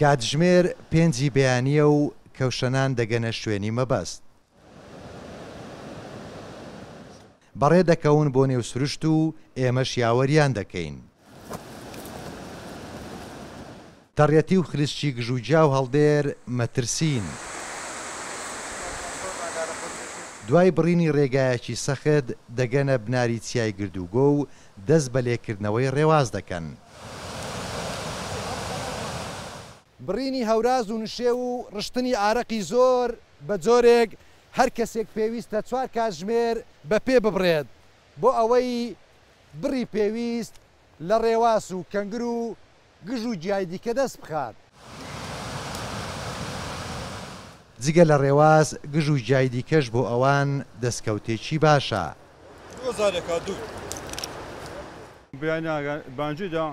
کاتژمێر پێنجی بەیانییە و کەوشەنان دەگەنە شوێنی مەبەست. بەڕێ دەکەون بۆ نێو سروشت و ئێمەش یاوەریان دەکەین. تەڕیەتی و خلیسکی گژوگیا و هەڵدێر مەترسین. دوای بڕینی ڕێگایەکی سەخت دەگەنە بناری چیای گردوگۆ و دەست بە لێکردنەوەی ڕێواس دەکەن. بڕینی هەوراز و نشێو و ڕشتنی ئارەقی زۆر بە جۆرێک هەر کەسێک پێویستە چوار کاتژمێر بە پێ ببڕێت بۆ ئەوەی بڕی پێویست لە ڕێواس و کەنگر و گژ و گیای دیکە دەست بخات. جگە لە ڕێواس گژ و گیای دیکەش بۆ ئەوان دەستکەوتێکی باشە. دوو هەزارێکا دوو. بەیانیان بانگی دا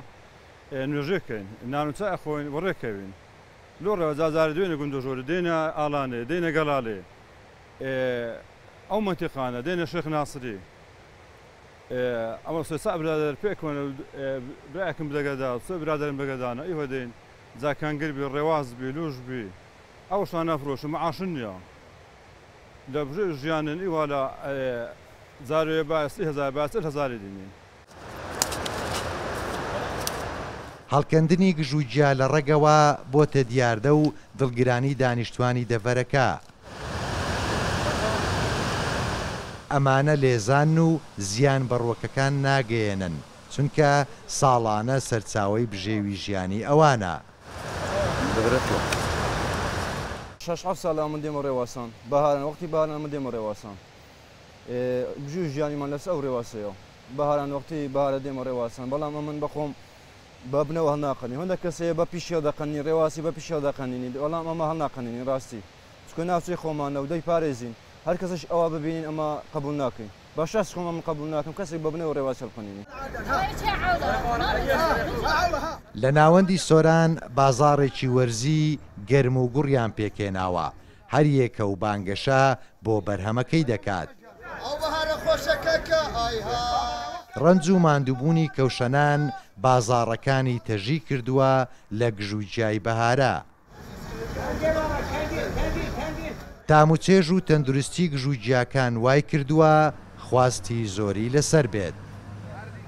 نوێژێ کەین نان و چای ئەخۆین و ڕێ کەوین لۆ ڕێوە جا جارێ دوێنە گوندۆژۆرێ دێنە ئالانێ دێنە گەڵالێ ئەو مەنتیقانە دێنە شێخ ناسری ئەمە سێ چا برادەر پێکەوەنە برایەکم بدەگەدا سێ برادەرم بەگەدانە ئیوە دێن جا کەنگر بی ڕێواز بی لوش بی ئەوشان نافرۆشم معاشن نییە لە ژیانن ئیوە لە جارێ با 30,000 با 40,000 دینین. هەڵکەندنی گژوگیا لە ڕەگەوە بۆتە دیاردە و دڵگرانی دانیشتوانی دەڤەرەکە. ئەمانە لێزانن و زیان بە ڕووەکەکان ناگەیەنن، چونکە ساڵانە سەرچاوەی بژێوی ژیانی ئەوانە. شەش حەفت ساڵە ئەمن دێمە ڕێواسان، بەهاران وەختی بەهاران ئەمن دێمە ڕێواسان. بژێوی ژیانیمان لەسەر ئەو ڕێواسەیە. بەهاران وەختی بەهارە دێمە ڕێواسان، بەڵام ئەمن بەخۆم بە بنەوە هەڵناقەنی. هەندێک کەس هەیە بە پیشی هەڵدەقەنی، ڕێواسی بە پیشی هەڵدەقەنینی، بەڵام ئەمە هەڵناقەنینی ڕاستی. چونکە ناوچەی خۆمانە و دەیپارێزین. هەر کەسێش ئەوە ببینین ئەمە قبوڵ ناکەین. بە شەخسی خۆم ئەمن قبوڵ ناکەم کەسێک بە بنەوە ڕێواسی هەڵقەنینی. لە ناوەندی سۆران بازاڕێکی وەرزی گەرم و گوڕیان پێکهێناوە، هەریەکە و بانگەشە بۆ بەرهەمەکەی دەکات. ڕەنج و ماندووبوونی کەوشەنان بازاڕەکانی تەژی کردووە لە گژوگیای بەهارە. تام و چێژ و تەندروستی گژوگیاکان وایکردووە خواستی زۆری لەسەر بێت.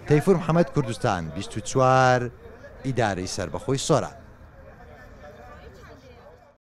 تەیفور محەمەد کوردستان 24 ئیدارەی سەربەخۆی سۆران.